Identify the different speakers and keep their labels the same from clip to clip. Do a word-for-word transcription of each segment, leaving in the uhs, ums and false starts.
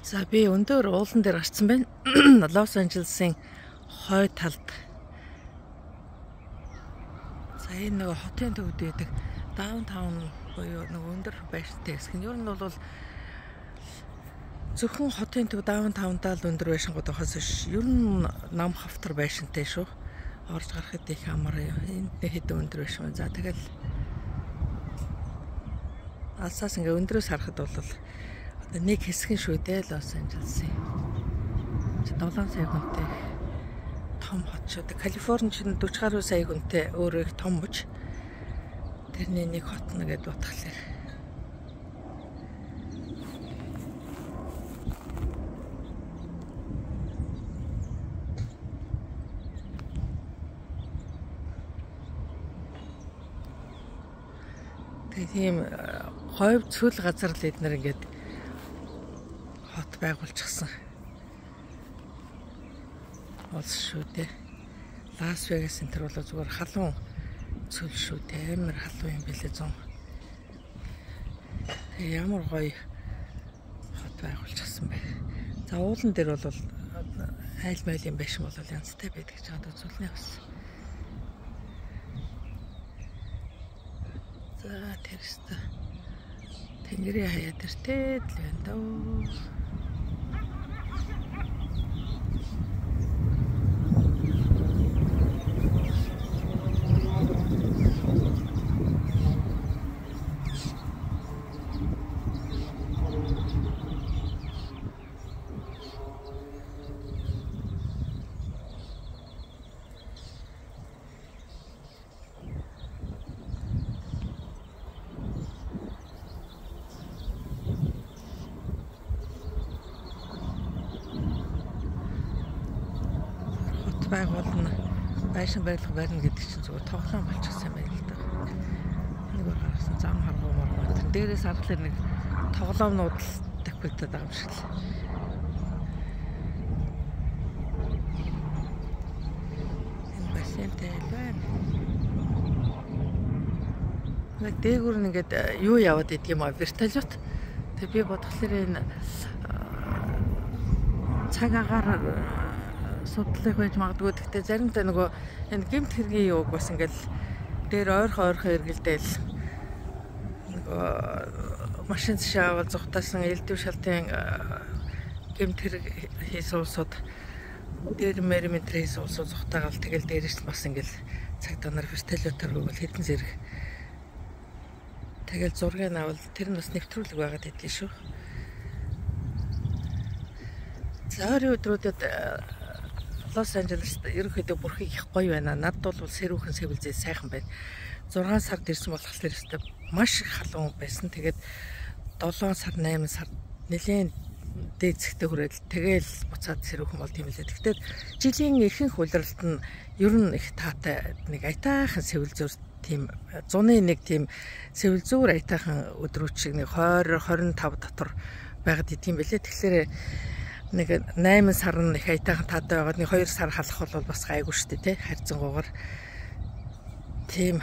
Speaker 1: За би өндөр уулан дээр гарсан байна. Лос Анжелесын хой талд. За энэ нэг хотын төвд байдаг даунтаун буюу нэг өндөр байшинтай хэсэг нь. Ер нь бол зөвхөн хотын төв даунтаунтаа л өндөр байшингууд байхаас биш. Ер нь нам хавтар байшинтай шүү. Орж гарахад их амар энд нэг хэдэн өндөр байшин. За тэгэл алсаас ингээ өндрөөс харахад бол нэг хэсэг шүү дээ Лос Анжелесын. долоон сая хүнтэй том хот шүү. Калифорни чинь дөрвөн гаруй сая хүнтэй өөрөө их том мөч. Тэрний нэг хот нэгэд утгалаа. Тийм хойв цөл газар л эднэр ингээд хот байгуулчихсан. Олс шүү дээ. Лас Вегас энэ төр бол зүгээр халуун цөл шүү дээ. Амар халуун юм билээ зам. Ямар гоё хот байгуулчихсан бэ. За уулан дээр бол айл майлын байшин бол янзтай байдаг ч одоо зүйлний бас. За тэрстэ тэнгэрийн хаяа тэртэй л байна дөө. Байгуулна байшин байрлах барина гэдэг чинь зүгээр тоглоом болчихсон юм байна л да. Нэг бол гарсан зам харгуу мөр. Тэр дээрээс харахад нэг тоглоомнууд л тавигдаад байгаа юм шиг л. Энэ бассейнтэй л байна. Нэг дээгүүр нэгэд юу яваад идэх юм аа вертолет. Тэг би бодглохлоор энэ цаг агаар судлах байж магадгүй. Гэхдээ заримдаа нөгөө энэ гэмт хэргийн юуг бас ингээл дээр ойрхон ойрхон эргэлдээл нөгөө машин шаавал зүхтаасан элдв шалтын гэмт хэрэг хийсэн улсууд дээр мэрэмэтр хийсэн улсууд зүхтаагаал тэгэл дээрээс бас ингээл цаг данаар вертолетоор бол хэдэн зэрэг тэгэл зургийг авал тэр нь бас нэвтрүүлэг байгаад идэв шүү. За ойрын өдрүүдэд Лос Анжелест ерөнхийдөө бүрхийг их гоё байна. Над бол сэрүүхэн сэвэлзээ сайхан байна. зургаан сард ирсэн болохоор өстой маш их халуун байсан. Тэгээд долоон сар, найман сар нэлээд дээцэгтэй хүрээд тэгэл буцаад сэрүүхэн бол тийм лээ. Гэхдээ жилийн ихэнх улиралд нь ер нь их таатай нэг аятайхан сэвэлзүүр тийм зуны нэг тийм сэвэлзүүр аятайхан өдрүүчиг нэг двадцать двадцать и пять дотор байгаад идэм байлээ. Тэгэхээр нэг найман сар нь их аятайхан таатай байгаад нэг хоёр сар халах бол бас гайгүй шүү дээ, тий. Харьцангуйгаар тийм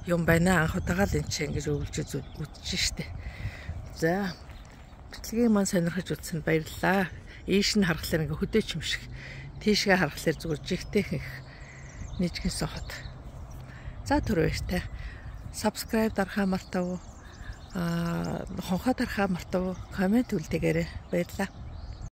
Speaker 1: юм байна. Анх удаага л энэ чинь ингэж өвлж үзэж штэ. За бичлэгийг маань сонирхож үзсэнд баярлалаа. Ийш нь харахаар ингээ хөдөөч юм шиг. Тийшгээ харахаар зүгээр жигтэйх их нийжгэнсэн хот. За түр баяртай. Subscribe дарахаа мартав. Аа хонхоо дарахаа мартав. Коммент үлдээгээрэй. Баярлалаа.